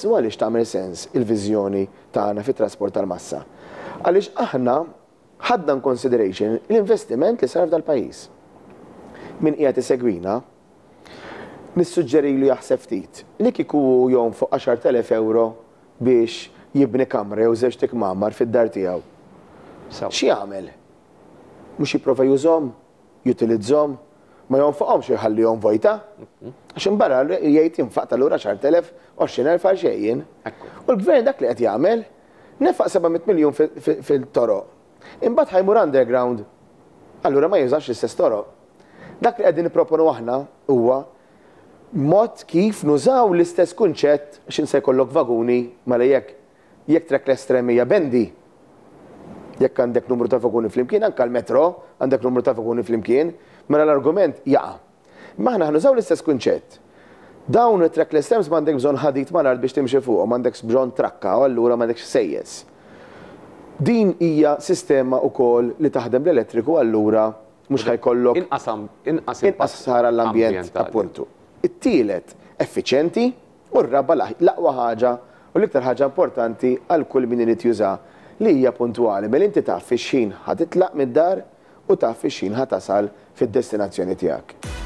U għaliex tagħmel sens il-viżjoni tagħna fit-trasport tal-massa? Għaliex aħna ħadna in consideration l-investiment li sar f'dal-pajjiż. Min qiegħed isegwina, nissuġġerilu jaħseb ftit li kieku hu jonfoq 10,000 euro biex jibni kamra jew żewġt ikmamar fid-dar tiegħu. X'jagħmel? Mhux jipprova jużhom? Jutilizzhom? Ma jonfoqhomx u jħallihom vojta? Għax imbarra jgħid infaqt allura 10,000, 20,000 għal xejn jien. U l-gvern dak li qed jagħmel, nefaq 700 miljun fil-toroq. Imbagħad ħa jmur underground. Allura ma jużax l-istess toroq. Dak li qegħdin nipproponu aħna huwa mod kif nużaw l-istess kunċett għax int se jkollok vaguni mela jekk jekk trackless tram hija bendi jekk għandek numru ta' vaguni flimkien anke l-metro għandek numru ta' vaguni flimkien mela l-argument jaqa'. Imma aħna ħa nużaw l-istess kunċett. Dawn it-trackless trams m'għandek bżonn ħadid mal-art biex timxi fuqhom, m'għandekx bżonn trakka u allura m'għandekx ħsejjes. Din hija sistema wkoll li taħdem bl-elettriku allura mhux ħa jkollok Inqas inqas inqas ħsara għall-ambjent appuntu. It-tielet, effiċjenti u r-raba' l-aqwa ħaġa u l-iktar ħaġa importanti għal kull min irid jużaha li hija puntwali, mela inti taf fi x'ħin ħa titlaq mid-dar u taf fi x'ħin ħa tasal fid-destinazzjoni tiegħek.